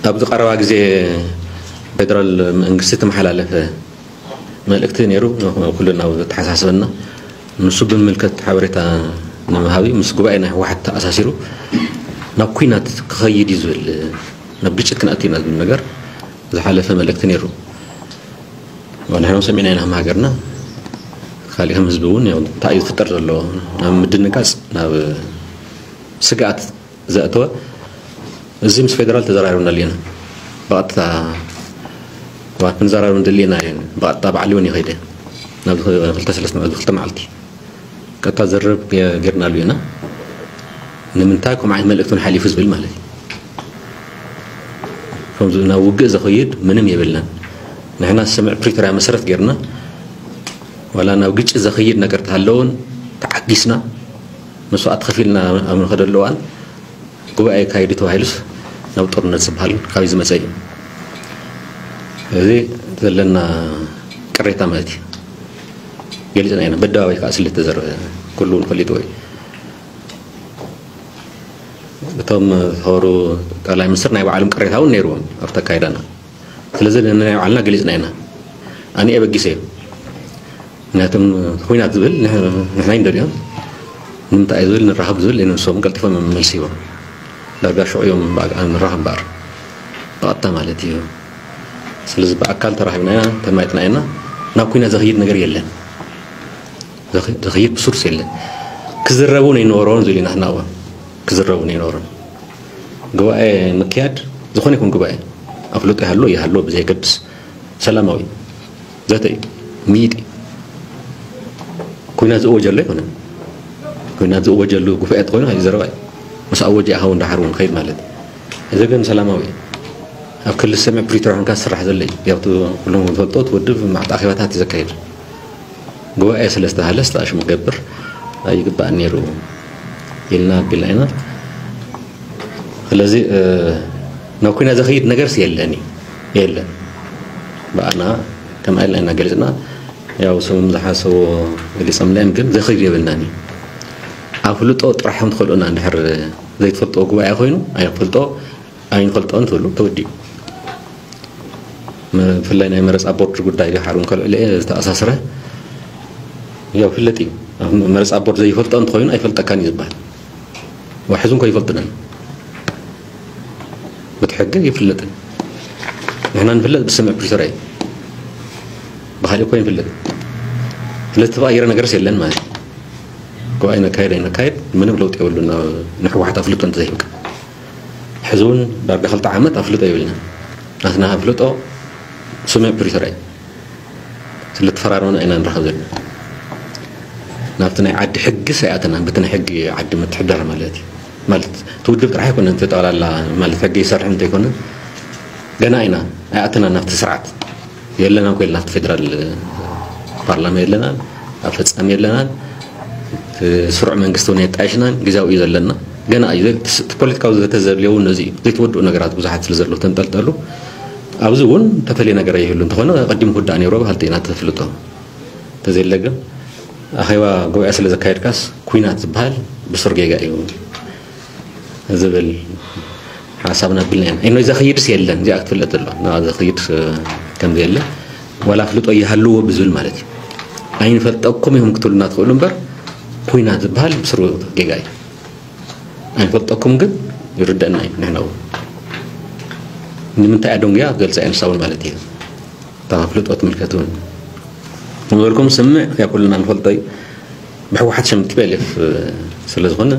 ኣብዚ ቀረባ ግዜ ፌደራል መንግስቲ ተመሓላለፈ መልእክቲ ነይሩ፣ ኩልና ኣብ ዘተሓሳስበና። ንሱ ብምምልከት ሓበሬታ ንምሃብ እዩ። ምስ ጉባኤ ናይ ህወሓት ተኣሳሲሩ ናብ ኩናት ክኸይድ እዩ ዝብል፣ ናብ ግጭት ክንኣቱ ኢና ዝብል ነገር ዝሓለፈ መልእክቲ ነይሩ። ንሕና ሰሚዕና ኢና፣ ሃገርና ካሊኦም ህዝቢ እውን እንታይ እዩ ዝፍጠር ዘሎ ናብ ምድንጋፅ፣ ናብ ስግኣት ዘእተወ። እዚ ምስ ፌደራል ተዘራሪብናሉ ኢና። ብቐጥታ፣ ክንዘራረብ ንደሊ ኢና። ብቐጥታ ባዕሉ እውን ይኸይደ ናብ ክልተ ሰለስተ መዓልቲ፣ ክልተ መዓልቲ ቀጥታ ዘረብ ጌርናሉ ኢና። ንምንታይ ከምኡ ዓይነት መልእክቲ ሓሊፉ ዝብል ማለት እዩ። ከምዚ ናብ ውግእ ዘኸይድ ምንም የብልናን። ንሕና ስምምዕ ፕሪቶርያ መሰረት ጌርና፣ ዋላ ናብ ግጭት ዘኸይድ ነገር ተሃለውን ተዓጊስና፣ መስዋእቲ ከፊልና ኣብ ንኸደሉ እዋን ጉባኤ ካይዱ ተባሂሉስ ናብ ጦርነት ዝበሃል ካብይ ዝመፀ እዩ። እዚ ዘለና ቅሬታ ማለት እዩ። ገሊፅና ኢና፣ በደባባይ ከዓ ስለ ዝተዘረበ ኩሉ እውን ፈሊጥዎ እዩ። እቶም ዝኸበሩ ጠቅላይ ሚኒስትር ናይ ባዕሎም ቅሬታ እውን ነይርዎም ኣብቲ ኣካይዳና። ስለዚ ንናይ ባዕልና ገሊፅና ኢና። ኣነ የበጊሰ እዩ። ምክንያቱም ኩናት ዝብል ንሕ- ንሕና ይንደልዮም ንምንታይ እዩ ዝብል ንራኸብ ዝብል ንሶም ቀልጢፎም እዮም መልሲ ሂቦም። ዳርጋ ሽዑ እዮም ብኣካል ንራኸብ እምበኣር ብቐጥታ ማለት እዩ። ስለዚ ብኣካል ተራኺብና ኢና፣ ተማይጥና ኢና። ናብ ኩናት ዘኽይድ ነገር የለን። ዘኽ- ዘኽይድ ብሱርስ የለን። ክዝረቡ ነይነበሮን ዝብል ኢና ንሕና እውን። ክዝረቡ ነይነበሮን። ጉባኤ ምክያድ ዝኾነ ይኹን ጉባኤ ኣፍልጦ ይሃሎ ይሃሎ ብዘየገድስ ሰላማዊ ዘተ እዩ። ምይጥ እዩ። ኩናት ዝእወጀሉ ኣይኮነን። ኩናት ዝእወጀሉ ጉባኤ ተኾይኑ ካብ ዘረባ እዩ። ምስ ኣወጀ ኢኻ እውን ደሓር እውን ከይድ ማለት እዩ። እዚ ግን ሰላማዊ እዩ። ኣብ ክልል ሰሜን ፕሪቶርያ ኮንካ ዝስራሕ ዘሎ እዩ። ያው እቲ ኩሎም ዝፈልጦ እቲ ውድብ መዓት ኣኼባታት እዩ ዘካይድ። ጉባኤ ስለ ዝተባህለ ዝተኣሽሙ ክገብር ኣይግባእን ነይሩ ኢልና ኣቢልና ኢና። ስለዚ ናብ ኩናት ዘኽይድ ነገርስ የለን እዩ። የለን። ብኣና ከምኣ ኢልና ኢና ገሊፅና። ያው ሰሙም ዝሓሰቦ ገሊፆም ላይም ግን ዘኽይድ የብልናን እዩ። ኣፍልጦ ጥራሕ ንትኽእሉና እንድሕር ዘይትፈልጦ ጉባኤ ኮይኑ ኣይፈልጦ ኣይንፈልጦን ትብሉ ተወዲኡ። ብፍላይ ናይ መረፃ ቦርድ ጉዳይ ድሓር እውን ከልዕሎ እየ ዝተኣሳስረ። ያው ፍለጥ እዩ። ኣብ መረፃ ቦርድ ዘይፈልጦ እንተኾይኑ ኣይፈልጠካን እዩ ዝበሃል። ዋሕዙ እንኮ ይፈልጥናን። በቲ ሕጊ ይፍለጥን። ንሕና ንፍለጥ ብስምምዕ ፕሪቶርያ እዩ። ብኻሊእ እኮ ይንፍለጥ። ስለዚ ተቐይረ ነገርስ የለን ማለት እዩ። ጉባኤ ነካየድ ኣይነካየድ ምንም ለውጢ የብሉን። ንሕወሓት ኣፍልጦ እንተዘይህብካ ሕዚ እውን ዳርጋ ክልተ ዓመት ኣፍልጦ የብልና። ናትና ኣፍልጦ ስምምዕ ፕሪቶርያ እዩ። ስለተፈራረምና ኢና ንራኸብ ዘለና። ናብቲ ናይ ዓዲ ሕጊ ኣይኣተናን። በቲ ናይ ሕጊ ዓዲ ምትሕድዳር ማለት እዩ። ማለት እቲ ውድብ ጥራሕ ኣይኮነን፣ እቲ ጠቕላላ ማለት ሕጊ ይሰርሕ እንተይኮነ ገና ኢና ኣይኣተናን ናብቲ ስርዓት። የለናን እኮ ኢልና ኣብቲ ፌደራል ፓርላማ የለናን፣ ኣብ ፈጻሚ የለናን፣ እቲ ስሩዕ መንግስቲ እውን የጣይሽናን፣ ግዜያዊ እዩ ዘለና። ገና እዩ ዘ- እቲ ፖለቲካዊ ዘተ ዘድልዮ እውን ነዚ እዩ። ዘይተወድኡ ነገራት ብዙሓት ስለ ዘለዉ ተንጠልጠሉ። ኣብዚ እውን ተፈልየ ነገር ኣይህሉ እንተኾነ ቀዲሙ ክውዳእ ነይሮ በሃልቲ ኢና ተፍልጦ። እንተዘየለ ግን ኣኼባ ጉባኤ ስለ ዘካየድካስ ኩናት ዝበሃል ብሱር ጌጋ እዩ ዝብል ሓሳብ ነብልና ኢና። ኢኖ ዘኽይድስ የለን፣ እዚኣ ክትፍለጥ ዘሎ። ንኣ ዘኽይድ ከም ዘየለ ዋላ ኣፍልጦ ይሃልዎ ብዝብል ማለት እዩ። ኣይንፈልጠኩም ኢኹም ክትብሉና ትኽእሉ እምበር ኩናት ዝበሃል ብስሩ ጌጋ እዩ። ኣይንፈልጠኩም ግን ይርደአና እዩ። ንሕና እውን ንምንታይ ኣደንጉያ ገልፃ እየ ንሳ እውን ማለት እዩ። እታ ኣፍልጦ ትምልከት እውን ንበልኩም ስምዕ ያ ኩልና ንፈልጦ እዩ። ብሕወሓት ሸም ቲ ፒ ኤል ኤፍ ስለ ዝኾነ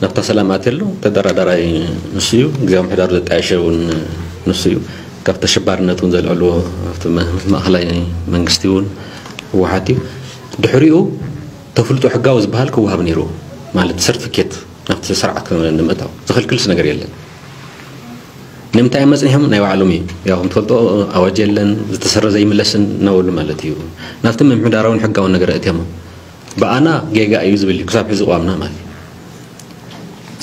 ናብታ ሰላም ኣትየ ኣሎ። ተደራዳራይ ንሱ እዩ። ግዜያዊ ምሕዳሩ ዘጣየሸ እውን ንሱ እዩ። ካብ ተሸባርነት እውን ዘልዕልዎ ኣብቲ መ- ማእኸላይ መንግስቲ እውን ህወሓት እዩ። ድሕሪኡ ተፍልጦ ሕጋዊ ዝበሃል ክወሃብ ነይሩ ማለት ሰርቲፊኬት ናብቲ ስርዓት ንምእታው ዝኽልክልስ ነገር የለን። ንምንታይ እዮም መፅኒሖም? ናይ ባዕሎም እዩ። ያው ከም ትፈልጦ ኣዋጅ የለን፣ ዝተሰረዘ ይምለስን እናበሉ ማለት እዩ። ናብቲ ምምሕዳራውን ሕጋውን ነገር እትዮም ብኣና ጌጋ እዩ ዝብል እዩ ክሳብ ሕዚ ቅዋምና ማለት እዩ።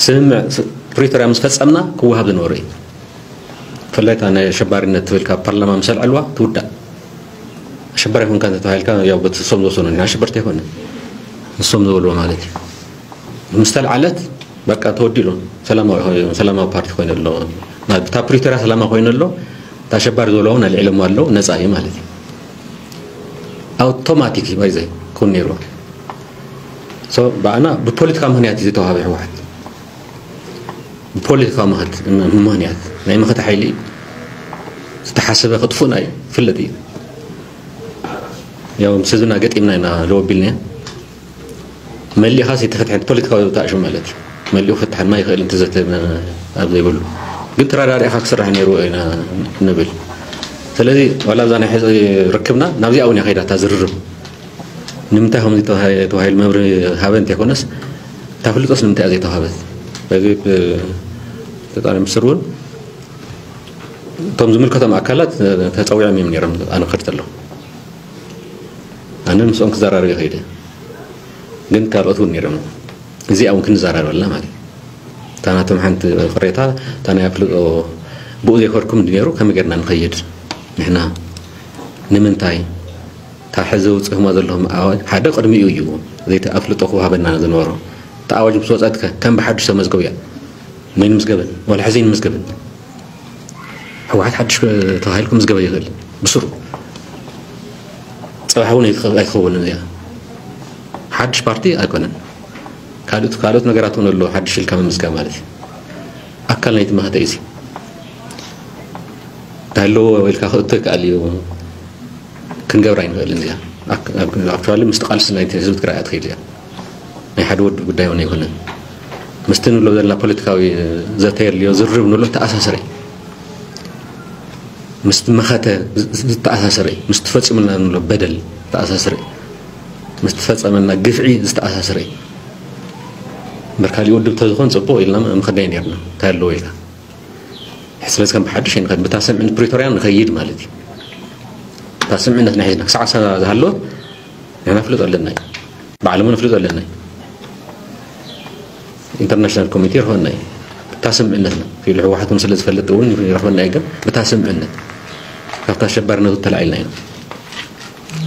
ስምምዕ ስ- ፕሪቶርያ ምስ ፈፀምና ክወሃብ ዝነበሩ እዩ። ብፍላይ እታ ናይ ኣሸባሪነት ትብል ካብ ፓርላማ ምስ ኣልዐልዋ ትውዳእ። ኣሸባሪ ኮንካ እንተተባሂልካ ያው በቲ ንሶም ዝወሰኑ ኢና፣ ኣሸበርቲ ኣይኮነ ንሶም ዝበልዎ ማለት እዩ። ምስ ተልዓለት በቃ ተወዲሉ ሰላማዊ ሰላማዊ ፓርቲ ኮይኑ ኣሎ። እታ ፕሪቶርያ ሰላማ ኮይኑ ኣሎ፣ እታ ኣሸባሪ ዝበልዋ እውን ኣልዒሎምዋ ኣለዉ፣ ነፃ እዩ ማለት እዩ። ኣውቶማቲክ እዩ ባይዘ ክውን ነይርዎ። ብኣና ብፖለቲካ ምክንያት እዩ ዝተዋሃበ ህወሓት። ብፖለቲካ ምክንያት ናይ መኸተ ሓይሊ ዝተሓሰበ ክጥፉእና እዩ፣ ፍለጥ እዩ። ያው ምስ ህዝብና ገጢምና ኢና ደወቢልና። መሊእኻ ዘይተፈትሐ ፖለቲካዊ ተኣሽሙ ማለት እዩ። መሊኡ ክፍትሐና ይኽእል እንተዘተ ኣብ ዘይብሉ ግን ተራዳሪእኻ ክስራሕ ነይሩ ኢና ንብል። ስለዚ ዋላ ኣብዛ ናይ ሕዚ ርክብና ናብዚኣ እውን እያ ከይዳ እታ ዝርርብ። ንምንታይ ከምዚ ተባሂ- ተባሂሉ መብርሂ ሃበ እንተይኮነስ እታ ፍልጦስ ንምንታይ እያ ዘይተዋሃበት? በዚ ብ- ጠቅላይ ሚኒስትር እውን እቶም ዝምልከቶም ኣካላት ተፀዊዖም እዮም ነይሮም ኣነ ክኸድ ከለኹ። ኣነ ምስኦም ክዘራረብ ይኸይደ ግን ካልኦት እውን ነይሮም። እዚኣ እውን ክንዘራረበላ ማለት እዩ። እታ ናቶም ሓንቲ ቅሬታ እታ ናይ ኣፍልጦ ብኡ ዘይከድኩም እንዲ ነይሩ ከመይ ጌርና ንኸይድ ንሕና ንምንታይ እታ ሕዚ ውፅእማ ዘለኹም ኣዋጅ ሓደ ቅድሚኡ እዩ ዘይተ ኣፍልጦ ክወሃበና ዝነበሮ። እታ ኣዋጅ ምስ ወፀት ከ ከም ብሓዱሽ ተመዝገቡ እያ። መን ምዝገበን ዋላ ሕዚ ምዝገበን ህወሓት ሓድሽ ተባሂሉ ክምዝገበ ይኽእል ብስሩ ፅባሕ እውን ኣይትኸ- ኣይትኸውንን እዚኣ ሓድሽ ፓርቲ ኣይኮነን። ካልኦት ካልኦት ነገራት እውን ኣሎ ሓድሽ ኢልካ ምምዝጋብ ማለት እዩ። ኣካል ናይቲ መኸተ እዩ እዚ። እንታይ ኣለዎ ኢልካ ክእቶ ይከኣል እዩ። ክንገብራ ኣይንኽእልን እዚኣ። ኣክ- ኣክ- ኣክቹዋሊ ምስቲ ቃልሲ ናይቲ ህዝቢ ትግራይ እያ ትኸይድ እዚኣ። ናይ ሓደ ወዲ ጉዳይ እውን ኣይኮነን። ምስቲ ንብሎ ዘለና ፖለቲካዊ ዘተ የድልዮ ዝርርብ ንብሎ ተኣሳሰረ እዩ። ምስቲ መኸተ ዝተኣሳሰረ እዩ። ምስቲ ፈፂሙልና ንብሎ በደል ዝተኣሳሰረ እዩ። ምስቲ ፈፀመና ግፍዒ ዝተኣሳሰረ እዩ። እምበር ካሊእ ውድብ ተዝኾን ፅቡቕ ኢልና ምኸድናዮ ነርና እንታይ ኣለዎ ኢልና። ስለዚ ከም ብሓድሽ ኣይንኸድ ብታ ስምዕነት ፕሪቶርያ ንኸይድ ማለት እዩ። እታ ስምዕነት ናይ ሒዝና ክሳዕ ሳ- ዝሃለወት ንሕና ፍልጦ ኣለና እዩ። ባዕሎም ንፍልጦ ኣለና እዩ። ኢንተርናሽናል ኮሚቴ ይረኽበና እዩ። ብታ ስምዕነትና ኢሉ ህወሓት እውን ስለ ዝፈልጥ እውን ይረኽበና እዩ። ግን ብታ ስምዕነት ካብታ ኣሸባሪነቱ ተላዒልና ኢና።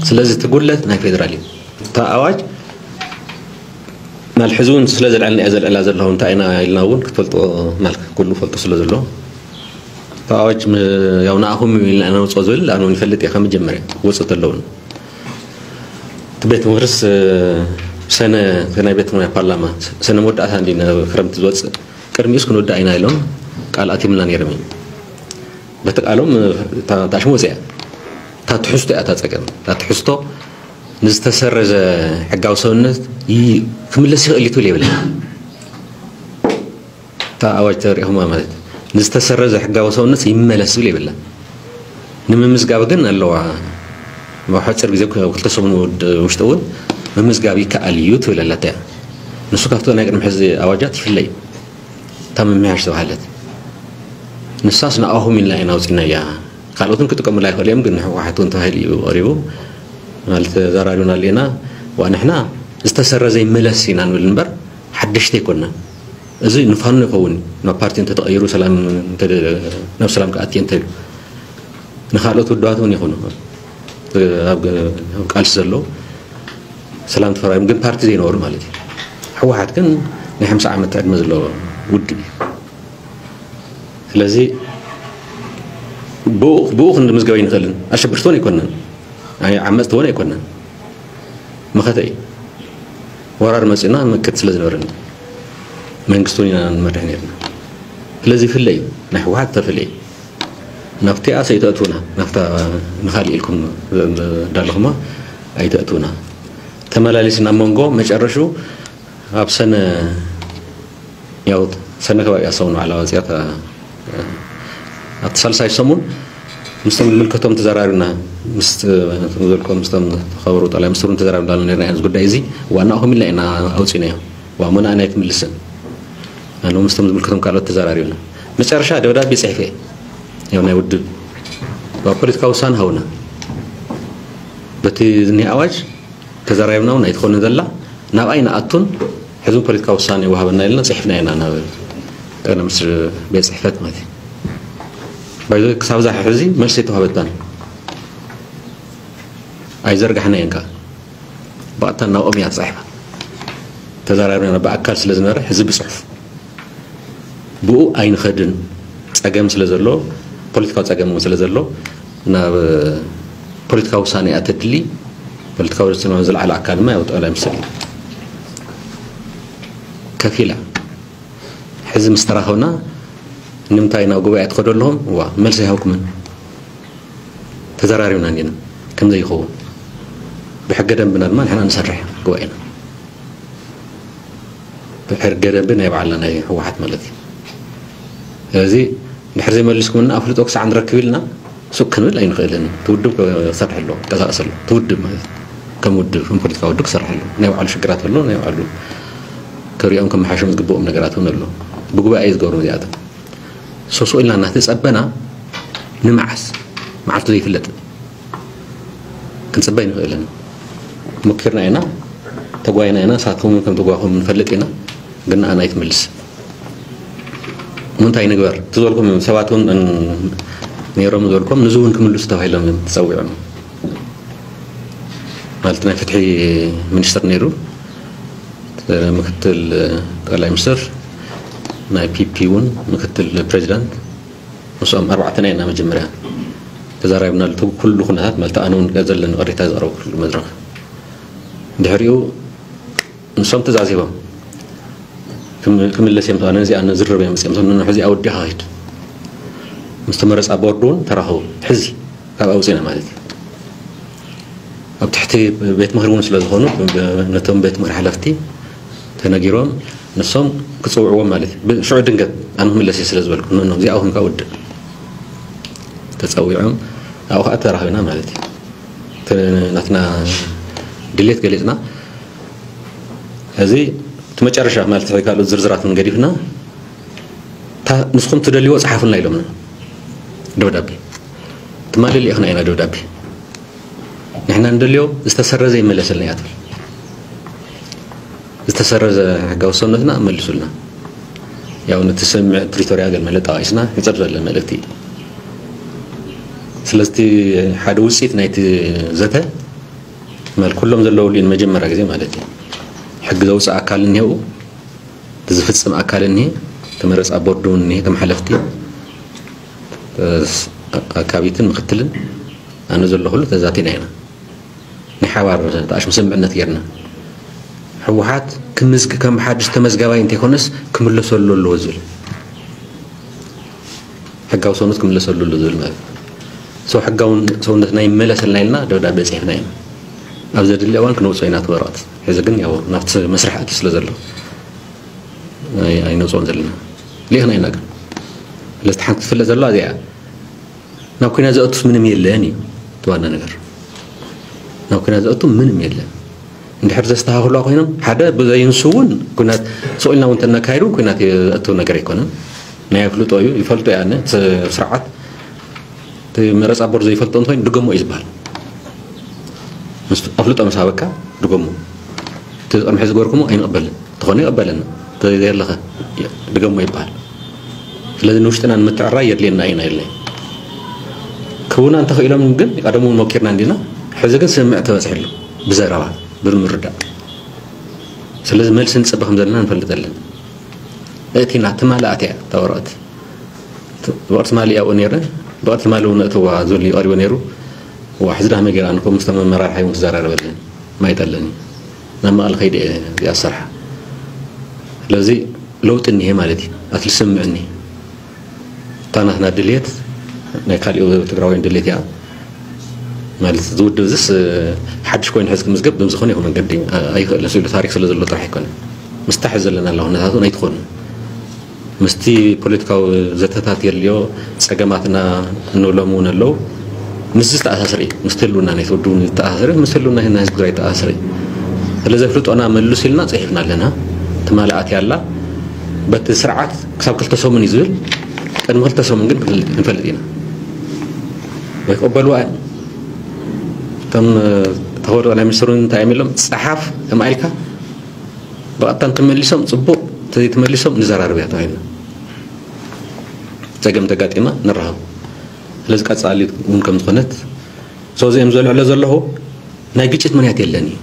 ስለዚ እቲ ጉድለት ናይ ፌደራል እዩ። እታ ኣዋጅ ማል ሕዚ እውን ስለ ዘልዐልና እያ ዘልዕላ ዘለኹ እንታይ ኢና ኢልና እውን ክትፈልጦ ማል ኩሉ ፈልጦ ስለ ዘሎ እታ ኣዋጅ ም- ያው ንኣኹም ኢልና ኢና ነውፅኦ ዝብል ኣነ እውን ይፈልጥ እየ ካብ መጀመርያ ክወፅእ ተለውን እቲ ቤት ምክርስ ሰነ ናይ ቤት ናይ ፓርላማ ሰነ መወዳእታ እንዲ ክረምቲ ዝወፅእ ቅድሚኡስ ክንወዳእ ኢና ኢሎም ቃል ኣቲምና ነይሮም እዩ። በቲ ቃሎም እታ ታሽሙ ወፅያ እታ ትሕዝቶ እያ እታ ፀገም እታ ትሕዝቶ ንዝተሰረዘ ሕጋዊ ሰውነት ይ- ክምለስ ይኽእል እዩ ትብል የብላ እታ ኣዋጅ ተሪእኹማ ማለት ንዝተሰረዘ ሕጋዊ ሰውነት ይመለስ ዝብል የብላ ንምምዝጋብ ግን ኣለዋ ኣብ ሓፂር ግዜ ክልተ ሰሙን ውድ- ውሽጢ እውን ምምዝጋብ ይከኣል እዩ ትብል ኣለታ እያ ንሱ ካብቲ ናይ ቅድሚ ሕዚ ኣዋጃት ይፍለ እዩ እታ ምምያሽ ዝተባሃለት ንሳስ ንኣኹም ኢልና ኢና ኣውፂና እያ ካልኦትን ክጥቀሙላ ይኽእሉ እዮም ግን ንህወሓት እውን ተባሂሉ እዩ ቀሪቡ ማለት ተዘራሪብና ኣለና ዋ ንሕና ዝተሰረዘ ይመለስ ኢና ንብል እምበር ሓደሽቲ ኣይኮንና እዚ ንፋኖ ይኸውን ናብ ፓርቲ እንተተቐይሩ ሰላም እንተ- ናብ ሰላም ክኣቲ እንተሉ ንካልኦት ውድባት እውን ይኹኑ ኣብ ኣብ ቃልሲ ዘለዉ ሰላም ተፈራሪም ግን ፓርቲ ዘይነበሩ ማለት እዩ ህወሓት ግን ናይ ሓምሳ ዓመት ዕድመ ዘለዎ ውድብ እዩ ስለዚ ብኡ ብኡ ክንምዝገብ ኣይንኽእልን ኣሸበርቲ እውን ኣይኮነን ኣይ ዓመፅቲ እውን ኣይኮነን መኸተ እዩ ወራር መፂና ምክት ስለ ዝነበረና መንግስቲ እውን ኢና ንመርሕ ነርና ስለዚ ይፍለ እዩ ናይ ህወሓት ዝተፈለየ ናብቲኣ ሰይተእትውና ናብታ ንኻሊእ ኢልኩም እንዳለኹማ ኣይተእትውና ተመላሊስና መንጎ መጨረሹ ኣብ ሰነ ያው ሰነ ከባቢ ኣሰሙን ባዕላ ወፅያ ኣብቲ ሳልሳይ ሰሙን ምስቶም ዝምልከቶም ተዘራሪብና ምስ ዘልኮ ምስቶም ተኸበሩ ጠቅላይ ሚኒስትሩን ተዘራሪብና ኣሎ ነርና እዚ ጉዳይ እዚ ዋናኹም ኢልና ኢና ኣውፂናዮ ዋሞና ኣና ኣይትምልስን ኣነ ምስቶም ዝምልከቶም ካልኦት ተዘራሪብና መጨረሻ ደብዳቤ ፅሕፈ ያው ናይ ውድብ ፖለቲካዊ ውሳነ ሃውና በቲ ዝኒ ኣዋጅ ተዘራሪብና እውን ኣይትኾንን ዘላ ናብኣይ ንኣቱን ሕዚ ፖለቲካዊ ውሳነ ይወሃበና ኢልና ፅሒፍና ኢና ናብ ጠቅላይ ሚኒስትር ቤት ፅሕፈት ማለት እዩ ባይዞ ክሳብ ዛ ሕዚ መልሲ ኣይተዋህበትናን ኣይዘርጋሕናየን ከዓ ብቐጥታ ናብኦም እያ ተፃሒፋ ተዘራሪብና ብኣካል ስለ ዝነበረ ሕዚ ብፅሑፍ ብኡ ኣይንኸድን ጸገም ስለ ዘሎ፣ ፖለቲካዊ ጸገም እውን ስለ ዘሎ፣ ናብ ፖለቲካዊ ውሳኔ እያ ተድሊ። ፖለቲካዊ ውሳኔ ዝለዓለ ኣካል ድማ ያው ጠቕላይ ሚኒስትር እዩ። ከፊላ ሕዚ ምስ ተራኸብና ንምንታይ ናብ ጉባኤ ትኸዱ ኣለኹም? ዋ፣ መልሲ ኣይሃብኩምን። ተዘራሪብና እንዲና ከም ዘይኸውን። ብሕገ ደንብና ድማ ንሕና ንሰርሕ ጉባኤና። ብሕገ ደንቢ ናይ ባዕልና ናይ ህወሓት ማለት እዩ። ስለዚ ድሕሪ ዘይመሊስኩምና ኣፍልጦ ክሳዕ ንረክብ ኢልና ሱቅ ክንብል ኣይንኽእልን። እቲ ውድብ ክሰርሕ ኣለዎ፣ ክንቀሳቀስ ኣለዎ። እቲ ውድብ ማለት እዩ። ከም ውድብ፣ ከም ፖለቲካዊ ውድብ ክሰርሕ ኣለዎ። ናይ ባዕሉ ሽግራት ኣለዎ፣ ናይ ባዕሉ ክሪኦም ከመሓይሾም ዝግብኦም ነገራት እውን ኣለዎ። ብጉባኤ እዩ ዝገብሮም እዚኣቶም። ሶሶ ኢልና እናተጸበና ንመዓስ? መዓልቱ ዘይፍለጥ ክንጽበ ኣይንኽእልን። ሞኪርና ኢና፣ ተጓይና ኢና፣ ንሳትኩም እውን ከም ተጓኹም ንፈልጥ ኢና። ግን ንኣና ኣይትመልስ። እሞ እንታይ ንግበር? እቲ ዝበልኩም ሰባት እውን እን-፣ ነይሮም ዝበልኩም ንዚ እውን ክምልሱ ተባሂሎም እዮም ተጸዊዖም። ማለት ናይ ፍትሒ ሚኒስትር ነይሩ፣ ምክትል ጠቅላይ ሚኒስትር፣ ናይ ፒፒ እውን ምክትል ፕሬዚዳንት፣ ምስኦም ኣርባዕተና ኢና መጀመርያ ተዛራቢብናሉ። እቲ ኩሉ ኩነታት ማለት ኣነ እውን ዘለኒ ቅሬታ ዘቕረብኩሉ መድረኽ። ድሕሪኡ ንሶም ትእዛዝ ሂቦም ክም-፣ ክምለስ እዮም ተባለ። ነዚኣ ንዝርብ እዮም መፅኦም። ንሕዚ ኣወዲኻ ሂድ። ምስ ተመረፃ ቦርድ እውን ተራኸቡ። ሕዚ ካብ ኣውፅና ማለት እዩ። ኣብ ትሕቲ ቤት ምኽሪ እውን ስለ ዝኾኑ ነቶም ቤት ምኽሪ ሓለፍቲ ተነጊሮም ንሶም ክፅውዕዎም ማለት እዩ። ብ-፣ ሽዑ ድንገት ኣነ ክምለስ እየ ስለ ዝበልኩ፣ ኖ፣ ኖ፣ እዚኣ እውን ካብ ውድእ ተፀዊዖም ኣብኡ ከዓ ተራኺብና ማለት እዩ። እቲ ናትና ድሌት ገሊፅና። እዚ እቲ መጨረሻ ማለት ካልኦት ዝርዝራት እውን ገዲፍና፣ እታ ንስኹም ትደልይዎ ፀሓፉልና ኢሎምና ደብዳቤ። ትማሊ ልኢኽና ኢና ደብዳቤ። ንሕና እንደልዮ ዝተሰረዘ ይመለሰልና እያ ትብል። ዝተሰረዘ ሕጋዊ ሰውነትና መልሱልና። ያው ነቲ ስምምዕ ፕሪቶርያ ገለ መለ ጠቓቂስና ሕፅር ዝበለ መልእክቲ እዩ። ስለዚ እቲ ሓደ ውፅኢት ናይቲ ዘተ ማለት ኩሎም ዘለውሉ እዩ ንመጀመርያ ግዜ ማለት እዩ። ሕጊ ዘውፅእ ኣካል እኒሄው፣ ዝፍፅም ኣካል እኒሄ፣ ተመረፃ ቦርድ እውን እኒሄ፣ ከም ሓለፍቲ ኣካቢትን ምክትልን ኣነ ዘለኹሉ ተዛቲና ኢና። ናይ ሓባር ተኣሽሙ ስምምዕነት ጌርና። ህወሓት ክምዝግ-፣ ከም ሓድሽ ተመዝጋባይ እንተይኮነስ ክምለሰሉ ኣለዎ ዝብል። ሕጋዊ ሰውነት ክምለሰሉ ኣሎ ዝብል ማለት እዩ። ሰው ሕጋውን ሰውነትና ይመለሰልና ኢልና ደብዳቤ ጽሒፍና ኢና። ኣብ ዘድሊ እዋን ክነውፅኦ ኢና እቲ ወረቐት። ሕዚ ግን ያው ናብቲ መስርሕ ኣትዩ ስለ ዘሎ ኣይ-፣ ኣይነውፅኦን ዘለና። ልኢኽና ኢና ግን። ስለዚ ሓንቲ ክትፍለጥ ዘለዋ እዚኣ እያ። ናብ ኩናት ዘእቱስ ምንም የለን እዩ እቲ ዋና ነገር። ናብ ኩናት ዘእቱ ምንም የለን። እንድሕር ዘስተኻኽሉዋ ኮይኖም፣ ሓደ ብዘይንሱ እውን ኩናት ስቕ ኢልና እውን ተነካይዱ ኩናት የእቱ ነገር ኣይኮነን። ናይ ኣፍልጦ እዩ፣ ይፈልጦ እያ። እቲ ስርዓት እቲ መረፃ ቦርድ ዘይፈልጦ እንተኮይኑ ድገሞ እዩ ዝበሃል። ምስ ኣፍልጦ ምስ ሃበካ ድገሞ። እቲ ቅድሚ ሕዚ ዝገበርኩሞ ኣይንቕበልን። እንተኾነ ይቕበለና። እንተዘየለኸ ድገሞ ይበሃል። ስለዚ ንውሽጥና ንምትዕራይ የድልየና እዩ፣ ናይ የድልየ ክውና እንተኽኢሎም ግን ቀደሙ እውን ሞኪርና እንዲና። ሕዚ ግን ስምምዕ ተበፅሒሉ ብዘረባ ብምርዳእ። ስለዚ መልሲ ንፅበ ከም ዘለና ንፈልጥ ኣለና። እቲና ትማሊ ኣትያ እታ ወረቐት። ወረቐት ትማሊ ኣብኡ ነይረ፣ ወረቐት ትማሊ እውን እተዋ ዝብል እዩ ቀሪቡ ነይሩ። ዋ፣ ሕዚ ዳመ ገይራ ንኮ ምስ ተመመራርሓ እውን ክዘራረበለን ማይጠለኒ ናብ መቐለ ከይደ እየ እዚኣ ዝሰርሓ። ስለዚ ለውጢ እኒሄ ማለት እዩ። ኣትሊ ስምዕ እኒሄ። እታ ናትና ድልየት ናይ ካሊኡ ትግራዋይን ድልየት እያ ማለት እዚ ውድብ እዚስ ሓድሽ ኮይኑ ሕዚ ክምዝገብ ብምዝኾነ ይኹን መንገዲ ኣይኽእልን ስሉ ታሪክ ስለ ዘሎ ጥራሕ ኣይኮነ። ምስታ ሕዚ ዘለና ኣለኹ ነታቱ ኣይትኾኑ። ምስቲ ፖለቲካዊ ዘተታት የድልዮ ጸገማትና እንብሎም እውን ኣለዉ። ምስዚ ዝተኣሳሰረ እዩ። ምስቲ ህልውና ናይቲ ውድብ እውን ዝተኣሳሰረ፣ ምስቲ ህልውና ናይ ህዝቢ ትግራይ ዝተኣሳሰረ እዩ። ስለዚ ኣፍልጦና መልሱ ኢልና ጽሒፍና ኣለና። ትማሊ ኣትያ ኣላ። በቲ ስርዓት ክሳብ ክልተ ሰሙን እዩ ዝብል። ቅድሚ ክልተ ሰሙን ግን ክንፈልጥ ኢና። ወይ ክቕበልዋ እዮም። እቶም ተኸበሩ ጠቅላይ ሚኒስትር እውን እንታይ እዮም ኢሎም? ጸሓፍ ተማኢልካ ብቐጥታ እንተመሊሶም ጽቡቕ፣ እንተዘይተመሊሶም ንዘራርብ እያ ተባሂልና። ጸገም ተጋጢማ ንራኸብ። ስለዚ ቀጻሊ እውን ከም ዝኾነት፣ so እዚኦም ዘልዕሎ ዘለኹ ናይ ግጭት ምኽንያት የለን እዩ።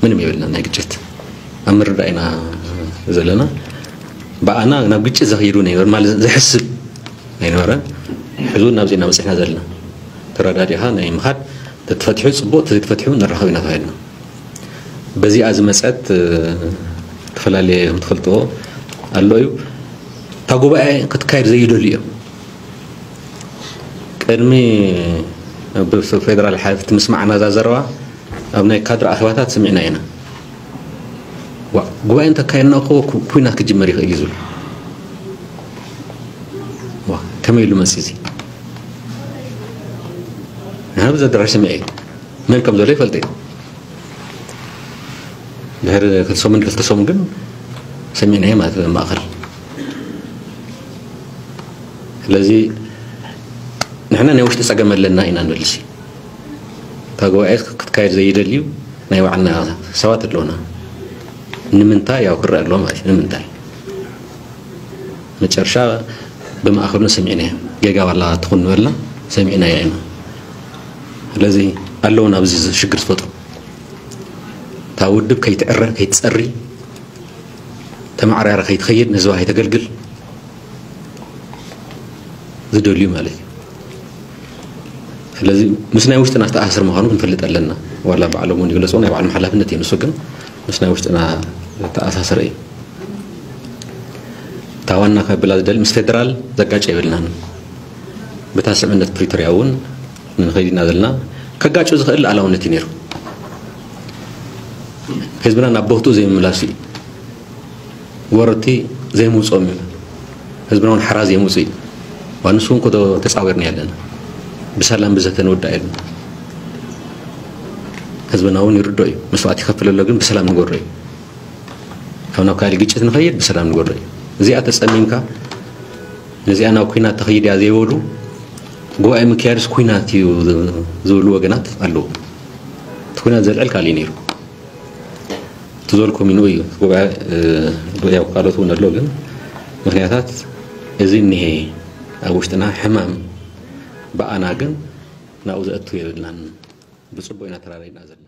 ምንም የብልና ናይ ግጭት። ኣብ ምርዳእ ኢና ዘለና። ብኣና ናብ ግጭት ዘኽይዱ ነይበር ማለት ዘሕስብ ኣይነበረን። ሕዚ እውን ናብዚ ኢና በፂሕና ዘለና። ተረዳዲኻ ናይ ምኻድ፣ ተተፈቲሑ ፅቡቕ፣ ተዘይተፈቲሑ ንራኸብ ኢና ተባሂልና። በዚኣ ዝመፀት ዝተፈላለየ ከም ትፈልጥዎ ኣሎ እዩ። እታ ጉባኤ ክትካየድ ዘይደልዩ እዮም። ቅድሚ ብፌደራል ሓለፍቲ ምስማዕና እዛ ዘረባ ኣብ ናይ ካድር ኣኼባታት ሰሚዕና ኢና። ዋ፣ ጉባኤ እንተካየድና እኮ ኩ- ኩናት ክጅመር ይኽእል እዩ ዝብሉ። ዋ፣ ከመይ ኢሉ መፂ እዚ? ንሓ ብዛ ኣዳራሽ ሰሚዐ እዩ። መን ከም ዘሎ ይፈልጥ እዩ። ድሕሪ ክልተ ሰሙን ክልተ ሰሙን ግን ሰሚዕናዮ ማለት እዩ ማእኸል። ስለዚ ንሕና ናይ ውሽጢ ፀገም ኣለና ኢና ንብል። እታ ጉባኤ ክትካየድ ዘይደልዩ ናይ ባዕልና ሰባት ኣለውና። ንምንታይ ያው ክረአ ኣለዎ ማለት እዩ። ንምንታይ መጨረሻ ብማእኸሉ ሰሚዕናዮ። ጌጋ ዋላ ትኹን ንበልና ሰሚዕናዮ ኢና። ስለዚ ኣለውን ኣብዚ ሽግር ዝፈጥሩ። እታ ውድብ ከይትዕረ፣ ከይትፀሪ፣ ተማዕራረ ከይትኸይድ፣ ንህዝባ ከይተገልግል ዝደልዩ ማለት እዩ። ስለዚ ምስ ናይ ውሽጥና ዝተኣሳሰር ምዃኑ ክንፈልጥ ኣለና። ዋላ ባዕሎም እውን ይግለፅዎ፣ ናይ ባዕሎም ሓላፍነት እዩ። ንሱ ግን ምስ ናይ ውሽጥና ዝተኣሳሰረ እዩ። እታ ዋና ከብላ ዝደሊ ምስ ፌደራል ዘጋጨ የብልናን። ብታ ስምምነት ፕሪቶርያ እውን ንኸይድ ኢና ዘለና። ከጋጩ ዝኽእል ሉዓላውነት እዩ ነይሩ። ህዝብና ናብ ቦትኡ ዘይምምላሱ እዩ። ወረርቲ ዘይምውፅኦም እዩ። ህዝብና እውን ሓራ ዘይምውፅእ እዩ። ዋንሱ እውን ኮዶ ተፃዊርና ኣለና። ብሰላም ብዘተ ንውዳእ የለን። ህዝብና እውን ይርዶ እዩ። መስዋዕት ይኸፍል ኣሎ፣ ግን ብሰላም ንጎሮ እዩ። ካብ ናብ ካልእ ግጭት ንኸይድ ብሰላም ንጎሮ እዩ። እዚኣ ተፀሚምካ ነዚኣ ናብ ኩናት ተኸይድ እያ ዘይበሉ፣ ጉባኤ ምክያድስ ኩናት እዩ ዝብሉ ወገናት ኣለዉ። እቲ ኩናት ዘልዕል ካልእ እዩ ነይሩ። እቲ ዝበልኩም እዩ፣ ንኡ እዩ። ጉባኤ፣ እ፣ ያው ካልኦት እውን ኣሎ፣ ግን ምኽንያታት እዚ እኒሄ ኣብ ውሽጥና ሕማም ብኣና ግን ናብኡ ዘእቱ የብልናን። ብፅቡቅ ኢና ተራሪድና ዘለና።